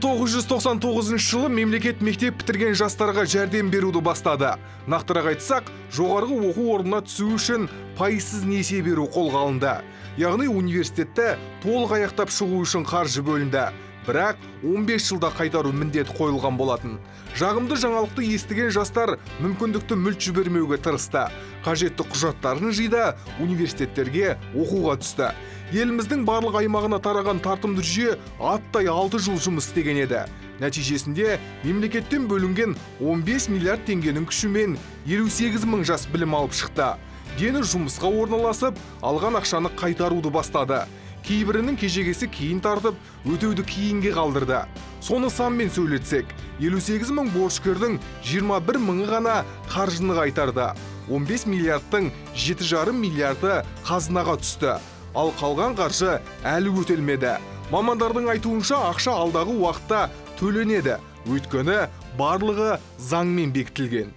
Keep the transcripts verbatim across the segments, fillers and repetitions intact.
тоғыз жүз тоқсан тоғызыншы жылы мемлекет мектеп бітірген жастарға жәрдем беруді бастады. Нақтырақ айтсақ, жоғарғы оқу орнына түсу үшін пайызсыз несие беру қолға алынды. Яғни университетті толық аяқтап шығу үшін қаржы бөлінді. Бірақ он бес жылда қайтару міндет қойылған болатын. Жағымды жаңалықты естіген жастар мүмкіндікті мүлт жібермеуге тырысты. Қажетті құжаттарын жиды, университеттерге оқуға түсті. Еліміздің барлық аймағына тараған тартымды жүйе аттай алты жыл жұмыс істеген еді. Нәтижесінде мемлекеттен бөлінген он бес миллиард теңгенің күшімен елу сегіз мың жас білім алып шықты. Дені жұмысқа орналасып, алған ақшаны қайтаруды бастады. Кейбірінің кежегесі кейін тартып, өтеуді кейінге қалдырды. Соны санмен сөйлетсек, елу сегіз мың борышкердің жиырма бір мыңы ғана қаржыны қайтарды. он бес миллиардтың жеті жарым миллиарды қазынаға түсті. Ал қалған қаржы әлі өтелмеді. Мамандардың айтуынша ақша алдағы уақытта төленеді. Өйткені барлығы заңмен бекітілген.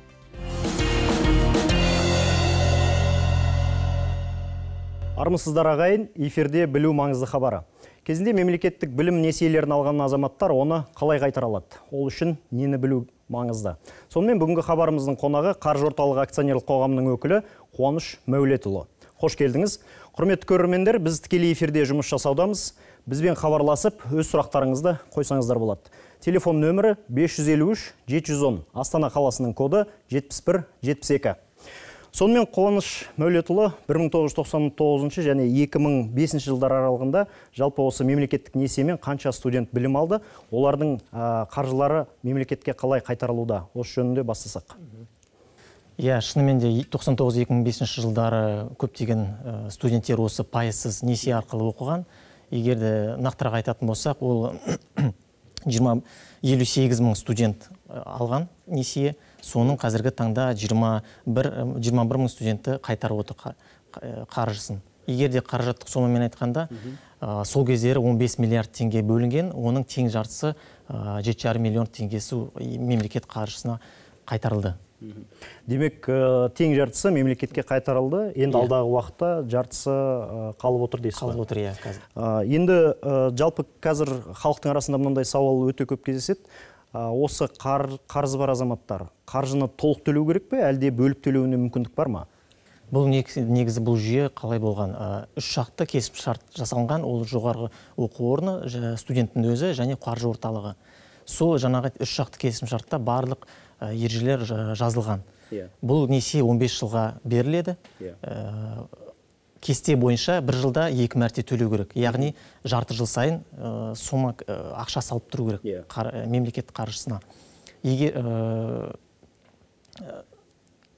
Армысыздар ағайын, эфирде білу маңызды хабары. Кезінде мемлекеттік білім несиелерін алған азаматтар оны қалай қайтара алады? Ол үшін нені білу маңызды? Сонымен бүгінгі хабарымыздың қонағы Қаржы орталығы акционерлік қоғамының өкілі Қуаныш Мәулетұлы. Қош келдіңіз. Құрметті көрермендер, біз тікелей эфирде жұмыс жасаудамыз. Бізбен хабарласып, өз сұрақтарыңызды қойсаңыздар болады. Телефон нөмірі бес жүз елу үш жеті жүз он, Астана қаласының коды жетпіс бір жетпіс екі. Сонымен Қуаныш Мәулетұлы бір мың тоғыз жүз тоқсан тоғызыншы және екі мың бесінші жылдар аралығында жалпы осы мемлекеттік несиемен қанша студент білім алды, олардың қаржылары мемлекетке қалай қайтарылуда? Осы жөнінде бастасақ. Иә, шынымен де тоқсан тоғыз екі мың бесінші жылдары көптеген студенттер осы пайызсыз несие арқылы оқыған. Егер де нақтырақ айтатын болсақ, ол елу сегіз мың студент алған несие, соның қазіргі таңда жиырма бір мың студенті қайтарып отыр қаржысын. Егер де қаражаттық сомамен айтқанда, сол кездері он бес миллиард теңге бөлінген, оның тең жартысы жеті жарым миллион теңгесі мемлекет қаржысына қайтарылды. Демек, тең жартысы мемлекетке қайтарылды, енді алдағы уақытта жартысы қалып отыр дейсіз. Қалып отыр, иә, қазір. Енді жалпы қазір халықтың арасында мынандай сауал өте көп кездеседі. Осы қарызы бар азаматтар қаржыны толық төлеу керек пе, әлде бөліп төлеуіне мүмкіндік бар ма? Бұл негізі бұл жүйе қалай болған? Үш шартты кесіп шарт жасалған, ол жоғарғы оқу орны, студенттің өзі және қаржы орталығы. Сол жаңағы үш шақты кесім шартта барлық ережелер жазылған. Бұл несие он бес жылға беріледі. Кесте бойынша бір жылда екі мәрте төлеу керек. Яғни жарты жыл сайын сома ақша салып тұру керек мемлекет қаржысына.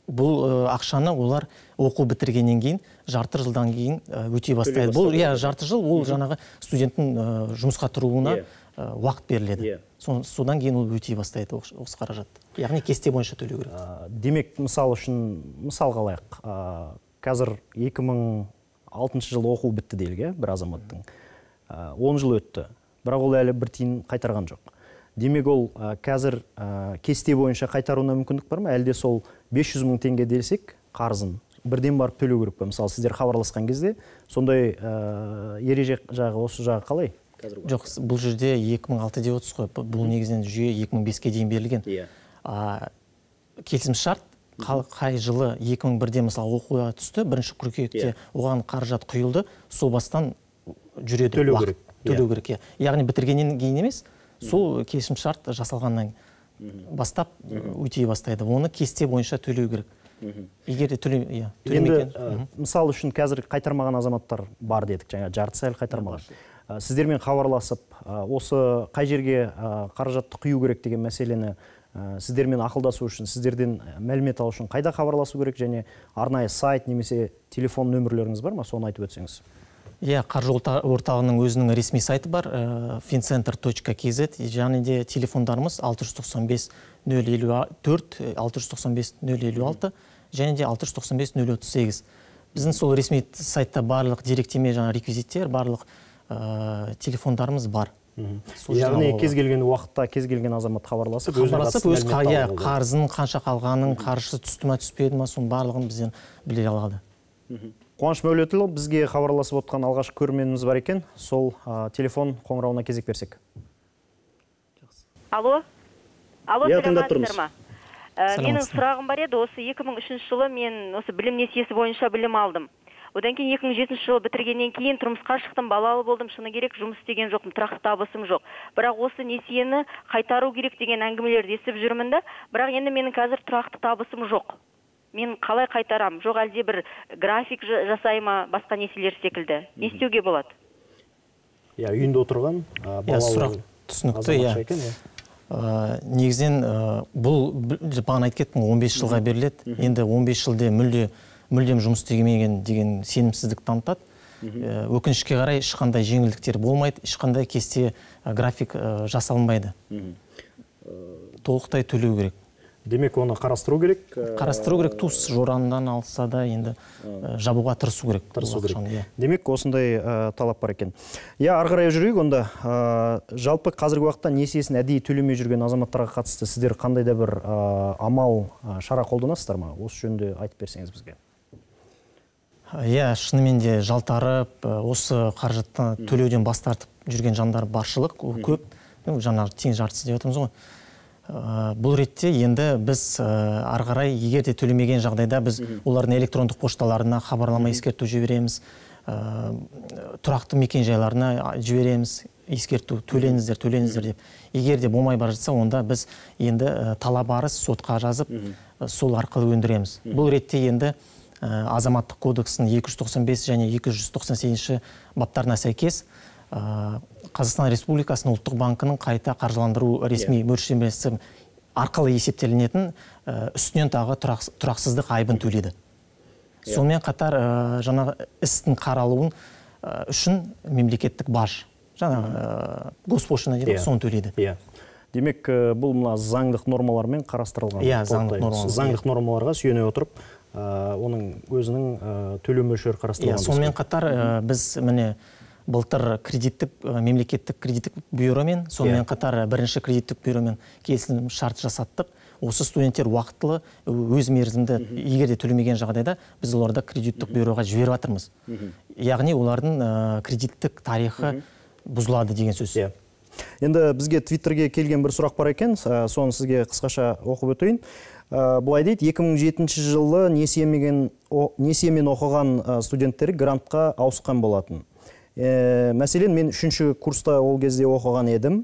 Бұл ақшаны олар оқу бітіргеннен кейін жарты жылдан кейін өтей бастайды. Бұл жарты жыл ол жаңағы студенттің жұмысқа тұруына уақыт беріледі. Содан кейін ол өтей бастайды осы қаражат. Яғни кесте бойынша төлеу керек. Демек, мысал үшін, мысал қалайық. Қазір екі мың алтыншы жылы оқу бітті делге бір азаматтың. он жыл өтті. Бірақ ол әлі бір тиын қайтарған жоқ. Демек, ол қазір кесте бойынша қайтаруына мүмкіндік бар ма? Әлде сол бес жүз мың теңге десек, қарызын бірден барып төлеу керек пе? Мысалы, сіздер хабарласқан кезде, сондай ереже жағы, осы жағы қалай? Жоқ, бұл жерде екі мың алты деп отырсыз ғой. Бұл негізінен жүйе екі мың беске дейін берілген. Келісім шарт қай жылы екі мың бірде мысалы оқуға түсті, бірінші қыркүйекте оған қаражат құйылды, сол бастан жүреді. Төлеу керек. Төлеу керек. Яғни бітіргеннен кейін емес, сол келісім шарт жасалғаннан бастап өтей бастайды. Оны кесте бойынша төлеу керек. Егер де төлемеген. Мысал үшін қазір қайтармаған азаматтар бар дедік, жаңа жартысы әлі қайтармаған. Сіздермен хабарласып, осы қай жерге қаражатты құю керек деген мәселені сіздермен ақылдасу үшін, сіздерден мәлімет алу үшін қайда хабарласу керек, және арнайы сайт немесе телефон нөмірлеріңіз бар ма? Соны айтып өтсеңіз. Иә, қаржы орталығының өзінің ресми сайты бар, fincenter точка kz, және де телефондарымыз алты жүз тоқсан бес нөл елу төрт, алты жүз тоқсан бес нөл елу алты, және де алты жүз тоқсан бес нөл отыз сегіз. Біздің сол ресми сайтта барлық деректеме, жаңа реквизиттер, барлық телефондарымыз бар. Яғни кез келген уақытта кез келген азамат хабарласып, өз қарызын қанша қалғанын, қаржысы түсті ме, түспеді ме, соның барлығын бізден біле алады. Қуаныш Мәулетұлы, бізге хабарласып отқан алғашқы көрерменіміз бар екен. Сол телефон қоңырауына кезек берсек. Алло. Алло, Иә, тыңдап саламатсыздар ма? Ә, Менің Саламатсыз. сұрағым бар еді, осы екі мың үшінші жылы мен осы білім несиесі бойынша білім алдым. Одан кейін екі мың жетінші жылы бітіргеннен кейін тұрмысқа шықтым, балалы болдым, шыны керек, жұмыс істеген жоқпын, тұрақты табысым жоқ. Бірақ осы несиені қайтару керек деген әңгімелерді естіп жүрмін да, бірақ енді менің қазір тұрақты табысым жоқ. Мен қалай қайтарам? Жоқ әлде бір график жа- жасай ма, басқа несиелер секілді? Не істеуге болады? Иә, үйінде отырған а, Иә, сұрақ балалы түсінікті, азаматша иә. екен, иә. Ә, негізінен ә, бұл б- бағана айтып кеттім он бес жылға беріледі. Енді он бес жылде мүлде мүлдем жұмыс істемеген деген сенімсіздік танытады. Ә, өкінішке қарай ешқандай жеңілдіктер болмайды, ешқандай кесте ә, график ә, жасалынбайды. Толықтай төлеу керек. Демек, оны қарастыру керек. ә, Қарастыру керек, туыс жорандан алса да енді ә, жабуға тырысу керек. Тырысу бұл керек. ақшаны, иә. Демек, осындай ә, талап бар екен. Иә, ары қарай жүрейік онда. Ә, жалпы қазіргі уақытта несиесін әдейі төлемей жүрген азаматтарға қатысты сіздер қандай да бір ә, амал, ә, шара қолданасыздар ма? Осы жөнінде айтып берсеңіз бізге. Иә, шынымен де жалтарып, ә, осы қаржытты төлеуден бас тартып жүрген жандар баршылық, ол көп. Ну, жаңағы тең жартысы деп жатырмыз ғой. Ә, Бұл ретте енді біз ә, ары қарай егер де төлемеген жағдайда біз олардың электрондық пошталарына хабарлама ескерту жібереміз, ә, тұрақты мекен жайларына жібереміз, ескерту, төленіңіздер, төленіңіздер деп. Егер де болмай бара жатса, онда біз енді ә, талап арыз сотқа жазып, ә, сол арқылы өндіреміз. Бұл ретте енді ә, азаматтық кодексінің екі жүз тоқсан бес және екі жүз тоқсан сегізінші баптарына сәйкес ә, Қазақстан Республикасының ұлттық банкінің қайта қаржыландыру ресми мөлшерлемесі арқылы есептелінетін ә, үстінен тағы тұрақ, тұрақсыздық айыбын төлейді. Сонымен қатар ә, жаңағы істің қаралуын ә, үшін мемлекеттік баж, жаңағы ә, госпошлина дейді, соны төлейді. Иә. Демек, ә, бұл мына заңдық нормалармен қарастырылған. Иә, заңдық нормалар. Заңдық нормаларға сүйене отырып, ә, оның өзінің ә, төлем мөлшері қарастырылған. Иә, сонымен қатар ә, біз міне былтыр кредиттік ә, мемлекеттік кредиттік бюромен, сонымен қатар ә, бірінші кредиттік бюромен келісім шарт жасаттық. Осы студенттер уақытылы өз мерзімді егер де төлемеген жағдайда біз оларды кредиттік бюроға жіберіп жатырмыз. Яғни олардың ә, кредиттік тарихы бұзылады деген сөз. Иә. Енді бізге Твиттерге келген бір сұрақ бар екен, ә, соны сізге қысқаша оқып өтейін. Ә, Былай дейді, екі мың жетінші жылы несиемен несиемен оқыған ә, студенттер грантқа ауысқан болатын. Ә, мәселен, мен үшінші курста ол кезде оқыған едім.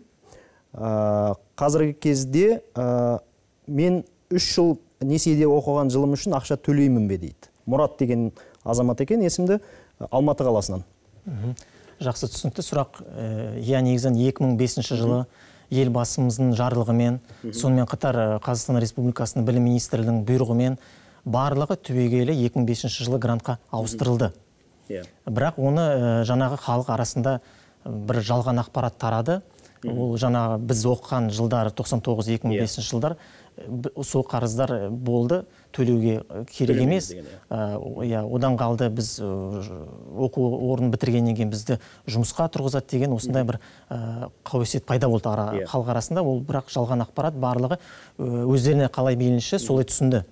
Ә, қазіргі кезде ә, мен үш жыл несиеде оқыған жылым үшін ақша төлеймін бе дейді. Мұрат деген азамат екен, есімді, Алматы қаласынан. Жақсы, түсінікті сұрақ. Иә, негізінен екі мың бесінші жылы елбасымыздың жарлығымен, сонымен қатар Қазақстан Республикасының білім министрлігінің бұйрығымен барлығы түбегейлі екі мың бесінші жылы грантқа ауыстырылды. Бірақ оны жаңағы халық арасында бір жалған ақпарат тарады. Ол жаңағы біз оқыған жылдар тоқсан тоғыз екі мың бесінші жылдар сол қарыздар болды, төлеуге керек емес. Одан қалды біз оқу орнын бітіргеннен кейін бізді жұмысқа тұрғызады деген осындай бір қауесет пайда болды халық арасында. Ол бірақ жалған ақпарат, барлығы өздеріне қалай мейлінше солай түсінді.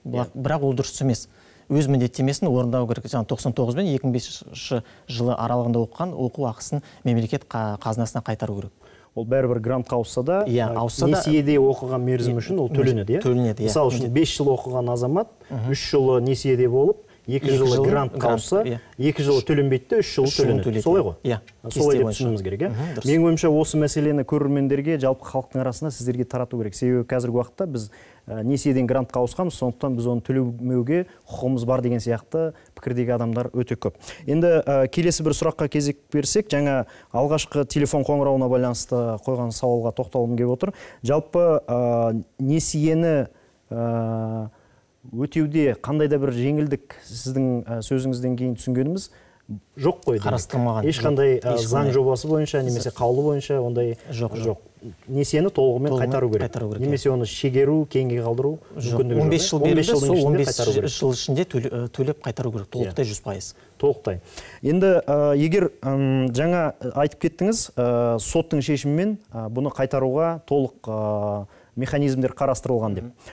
Бірақ ол дұрыс емес. Өз міндеттемесін орындау керек. тоқсан тоғыз бен екі мың бесінші жылы аралығында оқыған оқу ақысын мемлекет қазынасына қайтару керек. Ол бәрібір грантқа ауысса да, несиеде оқыған мерзім үшін ол төленеді, иә? Төленеді, иә. Мысалы үшін бес жыл оқыған азамат, үш жылы несиеде болып, екі жылы грантқа ауысса, екі жылы төленбейді, үш жылы төленеді. Солай ғой? Иә. Солай деп түсінуіміз керек, иә? Менің ойымша осы мәселені көрермендерге, жалпы халықтың арасында сіздерге тарату керек. Себебі қазіргі уақытта біз несиеден грантқа ауысқанбыз, сондықтан біз оны төлемеуге құқығымыз бар деген сияқты пікірдегі адамдар өте көп. Енді келесі бір сұраққа кезек берсек, жаңа алғашқы телефон қоңырауына байланысты қойған сауалға тоқталғым келіп отыр. Жалпы несиені өтеуде қандай да бір жеңілдік сіздің сөзіңізден кейін түсінгеніміз жоқ қой. Қарастырмаған. Ешқандай заң жобасы бойынша немесе қаулы бойынша ондай жоқ. Несиені толығымен қайтару керек. Немесе оны шегеру, кейінге қалдыру мүмкіндігі жоқ. он бес жыл берілді, сол он бес жыл ішінде төлеп қайтару керек. Толықтай жүз пайыз. Толықтай. Енді егер жаңа айтып кеттіңіз, соттың шешімімен бұны қайтаруға толық механизмдер қарастырылған деп.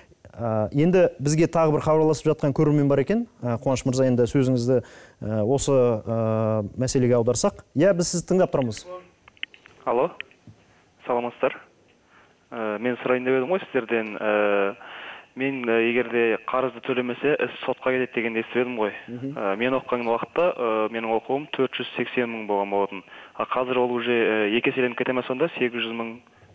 Енді бізге тағы бір хабарласып жатқан көрермен бар екен. Қуаныш мырза, енді сөзіңізді осы мәселеге аударсақ. Иә, біз сізді тыңдап тұрамыз. Алло, саламатсыздар. мен сұрайын деп едім ғой сіздерден. Мен егерде қарызды төлемесе, іс сотқа кетеді дегенді естіп едім ғой. Мен оқыған уақытта менің оқуым төрт жүз сексен мың болған болатын. Қазір ол уже екі еселеніп кете ме сонда, сегіз жүз мың,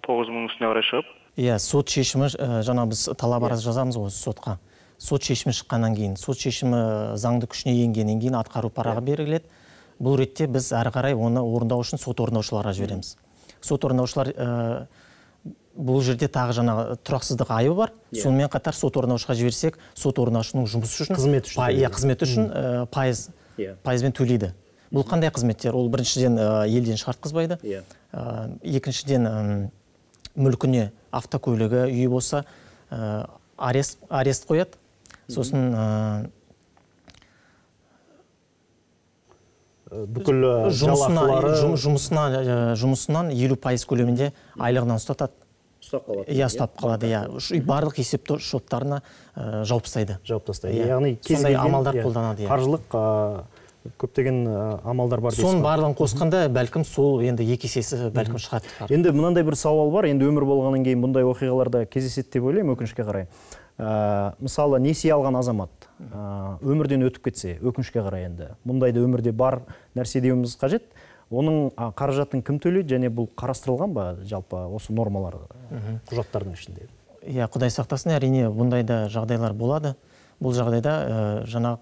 тоғыз жүз мың үстіне қарай шығып? Иә, сот шешімі, жаңа біз талап арыз жазамыз ғой сотқа. Сот шешімі шыққаннан кейін, сот шешімі заңды күшіне енгеннен кейін атқару парағы беріледі. Бұл ретте біз әрі қарай оны орындау үшін сот орындаушыларға жібереміз. Сот орындаушылар бұл жерде тағы жаңа тұрақсыздық айыбы бар. Сонымен қатар сот орындаушыға жіберсек, сот орындаушының жұмысы үшін, қызметі үшін, иә, қызметі үшін пайыз, пайызбен төлейді. Бұл қандай қызметтер? Ол біріншіден елден шығартқызбайды. Екіншіден мүлкіне автокөлігі, үйі болса, арест, арест қояды. Сосын бүкіл жалақылары жұмысынан елу пайыз көлемінде айлығынан ұстатады. Ұстап қалады. Иә, ұстап қалады, иә. Барлық есеп шоттарына жауып тастайды. Жауып тастайды. Яғни сондай амалдар қолданады. Қаржылық көптеген амалдар бар. Соның барлығын қосқанда бәлкім сол енді екі есесі бәлкім шығады. Енді мынандай бір сауал бар. Енді өмір болғаннан кейін бұндай оқиғаларда кездеседі деп ойлаймын, өкінішке қарай. Мысалы, несие алған азамат өмірден өтіп кетсе, өкінішке қарай енді. Мұндайды өмірде бар нәрсе деуіміз қажет. Оның қаражатын кім төлейді және бұл қарастырылған ба жалпы осы нормалар құжаттардың ішінде? Иә, Құдай сақтасын, әрине бұндайда жағдайлар болады. Бұл жағдайда жаңа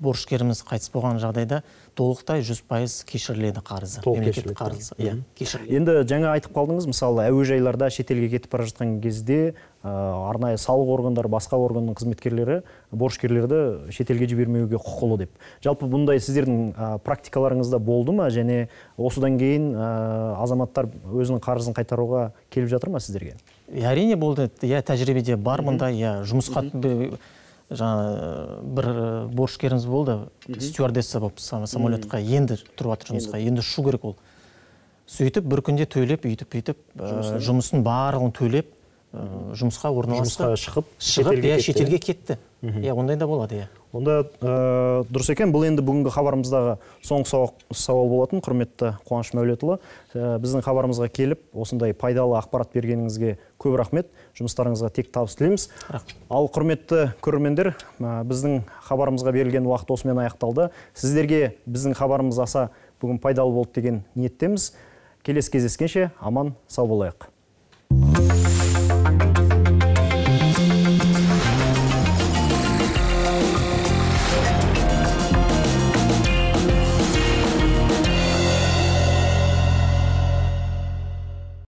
борышкеріміз қайтыс болған жағдайда толықтай жүз пайыз кешіріледі қарызы. Мемлекеттік қарызы. Иә, кешіріледі. Енді жаңа айтып қалдыңыз, мысалы, әуежайларда шетелге кетіп бара жатқан кезде арнайы салық органдары, басқа органның қызметкерлері борышкерлерді шетелге жібермеуге құқылы деп. Жалпы бұндай сіздердің практикаларыңызда болды ма, және осыдан кейін азаматтар өзінің қарызын қайтаруға келіп жатыр ма сіздерге? Әрине болды. Иә, тәжірибеде бар мұндай, иә, жұмысқа жаңа бір борышкеріміз болды, стюардесса болып самолетқа енді тұрып жатыр жұмысқа, енді ұшу керек ол. Сөйтіп бір күнде төлеп, үйтіп, үйтіп, жұмысын барлығын төлеп, жұмысқа орналасты. Жұмысқа шығып, шетелге кетті. Иә, ондай да болады, иә. Онда дұрыс екен. Бұл енді бүгінгі хабарымыздағы соңғы сауал болатын, құрметті Қуаныш Мәулетұлы. Біздің хабарымызға келіп, осындай пайдалы ақпарат бергеніңізге көп рахмет. Жұмыстарыңызға тек табыс тілейміз. Ал құрметті көрермендер, біздің хабарымызға берілген уақыт осымен аяқталды. Сіздерге біздің хабарымыз аса бүгін пайдалы болды деген ниеттеміз. Келесі кездескенше аман сау болайық.